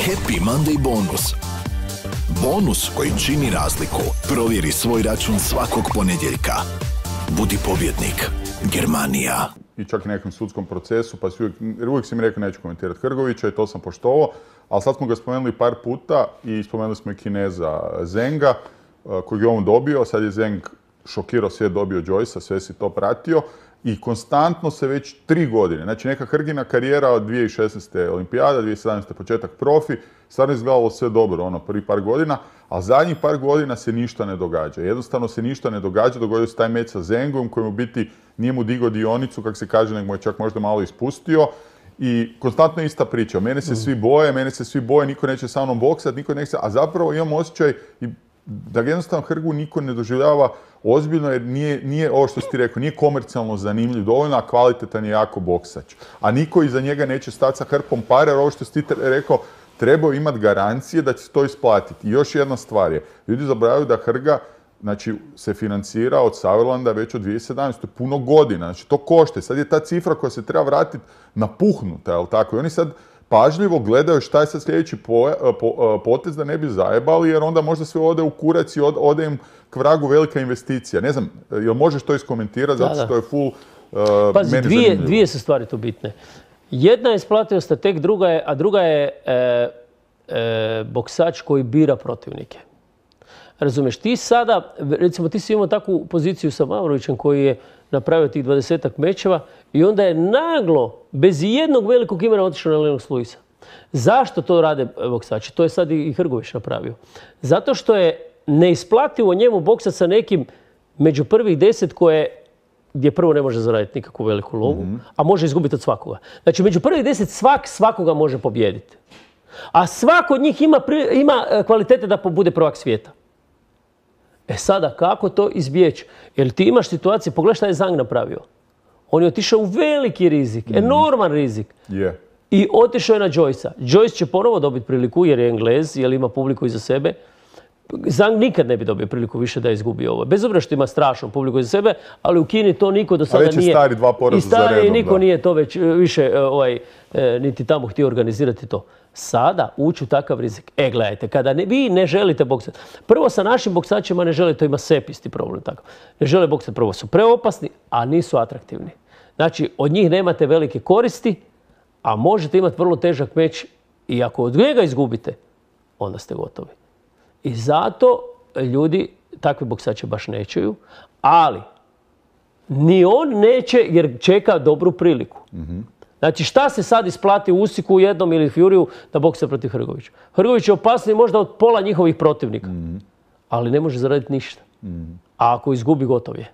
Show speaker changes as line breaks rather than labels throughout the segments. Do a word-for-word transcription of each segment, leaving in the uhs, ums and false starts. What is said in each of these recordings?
Happy Monday bonus. Bonus koji čini razliku. Provjeri svoj račun svakog ponedjeljka. Budi pobjednik. Germanija.
I čak i nekom sudskom procesu, pa si uvijek, jer uvijek si mi rekao neću komentirati Hrgovića i to sam poštovao, ali sad smo ga spomenuli par puta i spomenuli smo i Kineza Zenga, kojeg je on dobio, sad je Zeng šokirao svijet, dobio Joyce-a, sve si to pratio i konstantno se već tri godine, znači neka Hrgina karijera od dvije tisuće šesnaeste olimpijada, dvije tisuće sedamnaeste početak profi, stvarno izgledalo sve dobro, ono, prvi par godina, a zadnjih par godina se ništa ne događa. Jednostavno se ništa ne događa, dogodio se taj meč sa Zengom koji u biti nije mu digao dionicu, kako se kaže, nego mu je čak možda malo ispustio. I konstantno ista priča. Mene se svi boje, mene se svi boje, niko neće sa mnom boksat, niko neće, a zapravo imam osjećaj da jednostavno Hrgu niko ne doživljava ozbiljno jer nije, nije ovo što si ti rekao, nije komercijalno zanimljiv dovoljno, a kvalitetan je jako boksač. A niko iza njega neće stati sa hrpom para jer ovo što si ti rekao, trebao imati garancije da će se to isplatiti. I još jedna stvar je, ljudi zaboravljaju da Hrga znači, se financira od Sauerlanda već od dvije tisuće sedamnaeste. Puno godina, znači to košta. Sad je ta cifra koja se treba vratiti napuhnuta, jel tako? I oni sad pažljivo gledaju šta je sad sljedeći potez da ne bi zajebali, jer onda možda sve ode u kurac i ode im k vragu velika investicija. Ne znam, jel možeš to iskomentirati, zato što je full uh,
Pazi,
meni
dvije,
zanimljivo.
dvije su stvari tu bitne. Jedna je isplativost, a tek druga je, a druga je e, e, boksač koji bira protivnike. Razumeš, ti sada, recimo ti si imao takvu poziciju sa Mavrovićem koji je napravio tih dvadesetak mečeva i onda je naglo, bez jednog velikog imena otišao na Lennox Lewisa. Zašto to rade boksači? To je sad i Hrgović napravio. Zato što je neisplativo njemu boksat sa nekim među prvih deset koje, gdje prvo ne može zaraditi nikakvu veliku lovu, mm-hmm. a može izgubiti od svakoga. Znači, među prvih deset svak svakoga može pobijediti. A svako od njih ima, ima kvalitete da bude prvak svijeta. E sada, kako to izbjeći? Jer ti imaš situacije, pogledaj šta je Zhang napravio. On je otišao u veliki rizik, mm-hmm. enorman rizik.
Yeah.
I otišao je na Joyce-a. Joyce će ponovo dobiti priliku jer je Englez, jer ima publiku iza sebe. Zhang nikad ne bi dobio priliku više da izgubi ovo. Bez obzira što ima strašnu publiku iza sebe, ali u Kini to niko do sada nije...
A već je stari dva poraza za redom.
I stari niko da. Nije to već više ovaj, niti tamo htio organizirati to. Sada ući u takav rizik. E, gledajte, kada ne, vi ne želite boksati. Prvo sa našim boksačima ne želite, to ima Sep isti problem tako. Ne žele boksati, prvo su preopasni, a nisu atraktivni. Znači, od njih nemate velike koristi, a možete imati vrlo težak meč i ako od njega izgubite, onda ste gotovi. I zato ljudi takve boksače baš nećeju, ali ni on neće jer čeka dobru priliku. Mm-hmm. Znači šta se sad isplati u Usiku jednom ili Furiju da boksa protiv Hrgovića? Hrgović je opasniji možda od pola njihovih protivnika, mm-hmm. ali ne može zaraditi ništa. Mm-hmm. A ako izgubi, gotov je.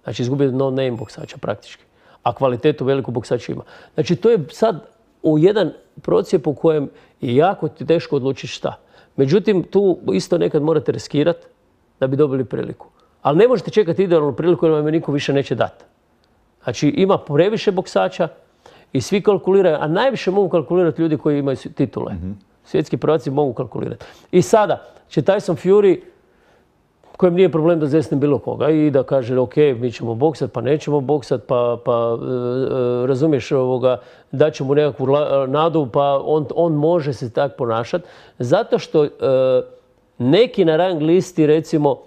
Znači izgubi no name boksača praktički. A kvalitetu veliku boksača ima. Znači to je sad u jedan procijep u kojem je jako teško odlučiti šta. Međutim, tu isto nekad morate riskirati da bi dobili priliku. Ali ne možete čekati idealnu priliku jer vam je niko više neće dati. Znači ima previše boksača i svi kalkuliraju, a najviše mogu kalkulirati ljudi koji imaju titule. Mm-hmm. Svjetski prvaci mogu kalkulirati. I sada će Tyson Fury, kojem nije problem da zesne bilo koga i da kaže ok, mi ćemo boksat, pa nećemo boksat, pa, pa e, razumiješ ovoga, daćemo mu nekakvu nadu, pa on, on može se tako ponašati. Zato što e, neki na rang listi recimo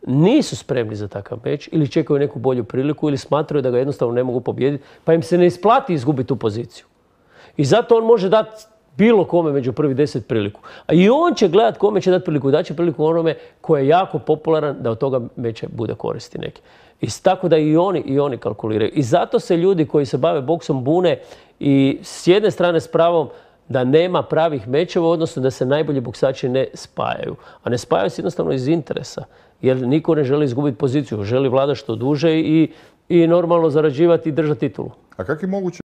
nisu spremni za takav meč ili čekaju neku bolju priliku ili smatraju da ga jednostavno ne mogu pobijediti, pa im se ne isplati izgubiti tu poziciju. I zato on može dati bilo kome među prvi deset priliku. A i on će gledat kome će dati priliku. Daće priliku onome koji je jako popularan da od toga meča bude koristi neki. I tako da i oni, i oni kalkuliraju. I zato se ljudi koji se bave boksom bune i s jedne strane s pravom da nema pravih mečeva, odnosno da se najbolji boksači ne spajaju. A ne spajaju se jednostavno iz interesa. Jer niko ne želi izgubiti poziciju. Želi vladati što duže i, i normalno zarađivati i držati titulu.
A kako je moguće